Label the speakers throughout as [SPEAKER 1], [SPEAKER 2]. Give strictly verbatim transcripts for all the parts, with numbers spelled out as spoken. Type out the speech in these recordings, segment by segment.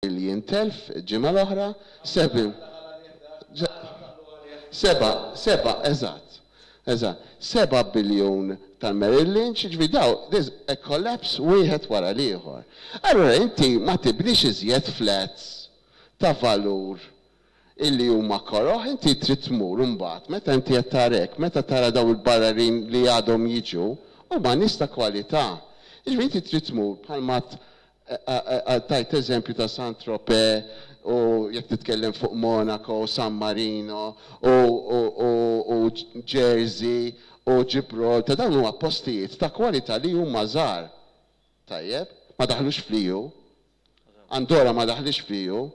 [SPEAKER 1] billion telf ġimgħa l-oħra, seven seba, seba, eżatt, eżatt, seba biljun tal-Merrill Lynch, ġifieri daw, there's a collapse wieħed wara l-ieħor. Allora inti ma tibnix iżjed flats ta' valur illi huma koroħ, inti trid tmur imbagħad, meta inti qed tarek, meta tara daw il-barranin li għadhom jiġu, huma nies ta' kwalità. Ġifieri inti trid tmur bħalma tajt eżempju ta' Saint-Tropez u jekk titkellem fuq Monaco, San Marino u Jersey u Gibraltar, dawn huma postijiet ta' kwalità li huma żgħar. Tajjeb, ma daħlux fl-E U. Andorra ma daħlix fl-E U.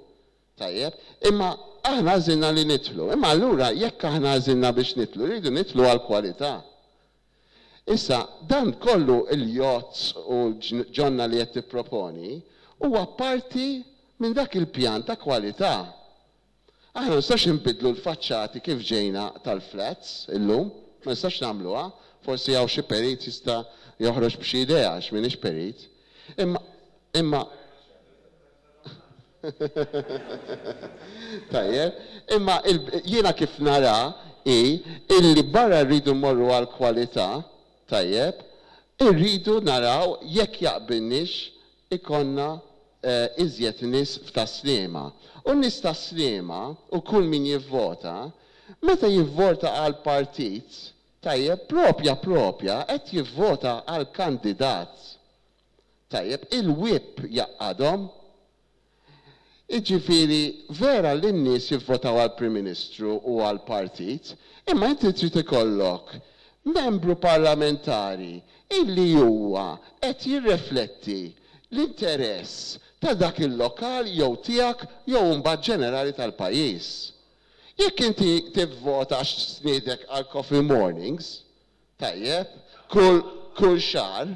[SPEAKER 1] Tajjeb, imma aħna għażilna li nidħlu. Imma allura jekk aħna għażilna biex nidħlu, rridu nidħlu għal kwalità. Issa, dan kollu, il-yachts u ġonna li qed tipproponi huwa parti minn dak il-pjan ta' kwalità. Aħna nistax nbidlu l-faċċati kif ġejna tal-flats illum, ma nistax nagħmluha, forsi hawn xi perit jista' joħroġ b'xi idea, għax m'iniex perit. Imma imma Tajjeb, imma jiena kif nara i illi barra rridu mmorru għal kwalità, tajjeb, irridu naraw jekk jaqbilniex ikollna eh, iżjed nies f'Tas-Sliema. U nies Tas-Sliema u kull min jivvota, meta jivvota għal partit, tajjeb, propja propja, qed jivvota għal kandidat. Tajjeb, il-whip jgħaqqadhom. Iġifiri, vera li n-nies jivvotaw għal Prim Ministru u għal partit, imma inti trid ikollok membru parlamentari illi huwa qed jirrefletti l-interess ta' dak il-lokal jew tiegħek jew mbagħad ġenerali tal-pajjiż. Jekk inti tivvota għax stiednek għal coffee mornings, tajjeb, kull kull xahar,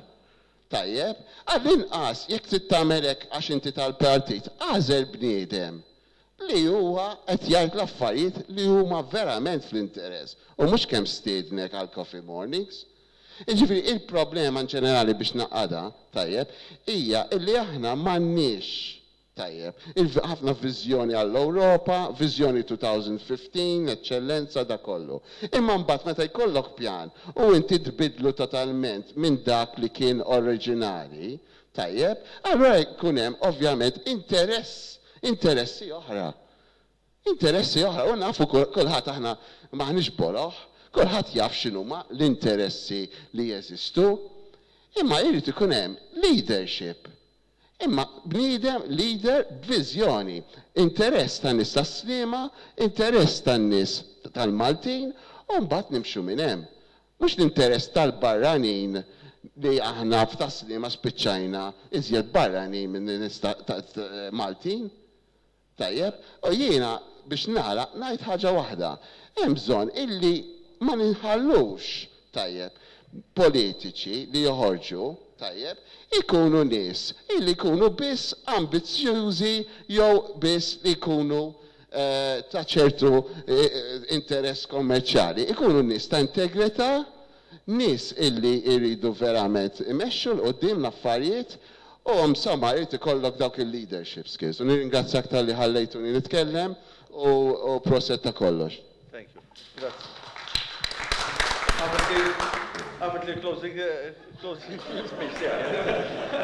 [SPEAKER 1] tajjeb, għall-inqas jekk trid tagħmel hekk għax inti tal-partit, għażel bniedem li huwa qed jgħid l-affarijiet li huma verament fl-interess u mhux kemm stiednek għal coffee mornings. Jiġifieri il-problema in ġenerali, biex nagħqadha, tajjeb, hija illi aħna m'għandniex, tajjeb, ħafna viżjoni għall-Ewropa, viżjoni elfejn u ħmistax, eċċellenza, da kollu. Imma mbagħad meta jkollok pjan u inti tbidlu totalment minn dak li kien oriġinali, tajjeb, allura jkun hemm ovvjament interess, interessi oħra. Interessi oħra, u nafu kulħadd, aħna maħniex boloh, kulħadd jaf x'inhuma l-interessi li jeżistu, imma jrid ikun hemm leadership. Imma bniedem leader b'viżjoni, interess tan nies Tas-Sliema, interess tan nies tal-Maltin, u mbagħad nimxu minn hemm. Mhux l-interess tal-barranin li aħna f'Tas-Sliema spiċċajna iżjed barranin minn nies Maltin. Tajjeb, u jiena biex nara ngħid ħaġa waħda. Hemm bżonn illi ma ninħallux, tajjeb, politiċi li joħorġu, tajjeb, ikunu nies illi jkunu biss ambizzjużi jew biss li jkunu eh, ta' ċertu eh, interess kommerċjali. Ikunu nies ta' integrità, nies illi jridu verament imexxu 'l quddiem l-affarijiet u insomma jrid ikollok dawk il-leadership skills. U nirringrazzjak talli ħallejtuni nitkellem u, u proset ta' kollox.
[SPEAKER 2] Thank you. Grazie. Għamilt li closing, eh, closing speech tiegħi.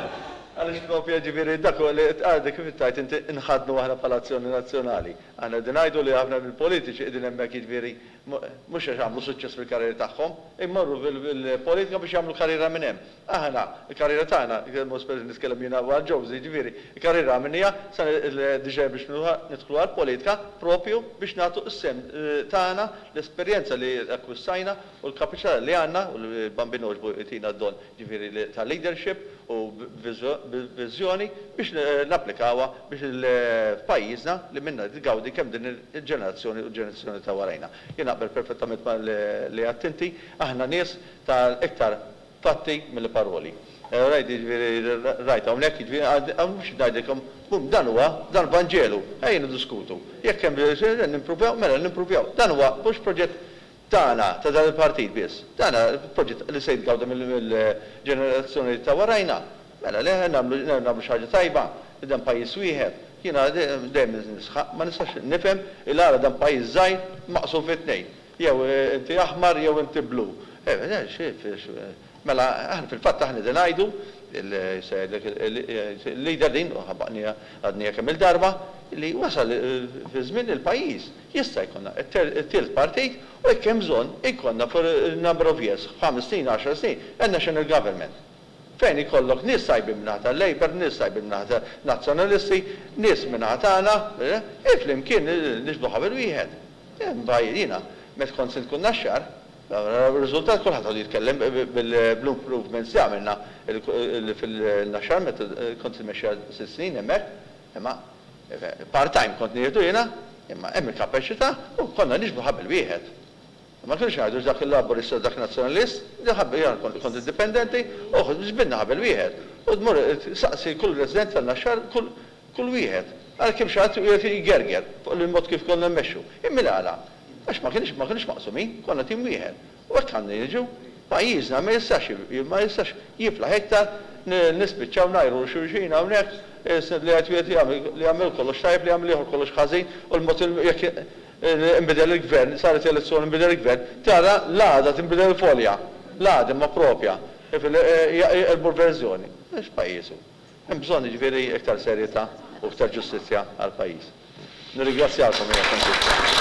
[SPEAKER 2] Għaliex propja ġifieri dak li għadek kif tajt inti nħadnu aħna bħala Azzjoni Nazzjonali. Aħna qegħdin ngħidu li aħna mill-politiċi qegħdin hemmhekk, jiġifieri mhux għax għamlu suċċess fil-karriera tagħhom, immorru fil-politika biex jagħmlu karriera minn hemm. Aħna, il-karriera tagħna, mhux nitkellem jiena għal Josie, ġifieri, il-karriera minnija sa diġà biex nidħlu għall-politika propju biex nagħtu s-sehem eh, tagħna, l-esperjenza li akkwistajna u l-kapaċità li għandna u l-Bambin jtina d-don ġifieri ta' leadership u viżjoni biex napplikawha biex il-pajjiżna li minna tgawdi kemm din il-ġenerazzjoni u l-ġenerazzjoni ta' warajna. Jien naqbel perfettament ma li għedt inti, aħna nies ta' iktar fatti mill-paroli. Eh, rajt, ġifieri, rajt, hawnhekk, ġifieri, mhux ngħidilkom, bum, dan huwa, dan Vanġelu, ejja niddiskutu. Jekk hemm nimpruvjaw, mela nimpruvjaw. Dan huwa mhux proġett tagħna ta' dan il-partit biss. Dan proġett li se jitgawda mill-ġenerazzjoni ta' warajna. Mela le nagħmlu nagħmlu xi ħaġa tajba, dan pajjiż wieħed, Jiena dejjem nisħaq, ma nistax nifhem il-għala dan pajjiż żgħir maqsum fi tnejn. Jew inti aħmar jew inti blu. Mela aħna fil-fatt aħna qegħdin ngħidu il-leader din ħabbaqni għadnija kemm il-darba li wasal fi żmien il-pajjiż jista' jkollna it-tielet partit u jekk hemm bżonn ikollna for a number of years, ħames snin, għaxar snin, a national government. Fejn ikollok nies tajbin min-naħa tal-Labour, nies tajbin min-naħa Nazzjonalisti, nies min-naħa tagħna, e flimkien niġbdu ħabel wieħed. Jiena, meta kont sindku Naxxar, riżultat kulħadd għadu jitkellem bil-improvements li għamilna fil-Naxxar meta kont immexxi sitt snin hemmhekk, imma part-time kont nieħdu jiena, imma hemm il-kapaċità u konna niġbdu ħabel wieħed. Ma kienx ngħidu dak il-Laburista, dak Nazzjonalist, kont indipendenti, u ġbidna ħabel wieħed. U tmur saqsi kull resident tal-Naxxar, kull wieħed. Għal kemm xi ħadd jgerger fuq il-mod kif konna mmexxu. Imma għala, għax ma kienx ma kienx maqsumin, konna tim wieħed. U hekk għandna jiġu, pajjiżna ma jistax ma jistax jiflaħ iktar nispiċċaw ngħajru xulxin hawnhekk li qed wieħed li jagħmel kollox tajjeb, li jagħmel ieħor kollox ħażin, u l-mod jekk inbidel il-gvern, saret elezzjoni, nbidel il-gvern, tara l-għada tinbidel il-folja, l-għada ma propja, il verżjoni. Mhux pajjiżu. Hemm bżonn jiġifieri iktar serjetà u iktar ġustizzja għall-pajjiż. Nirringrazzjakom.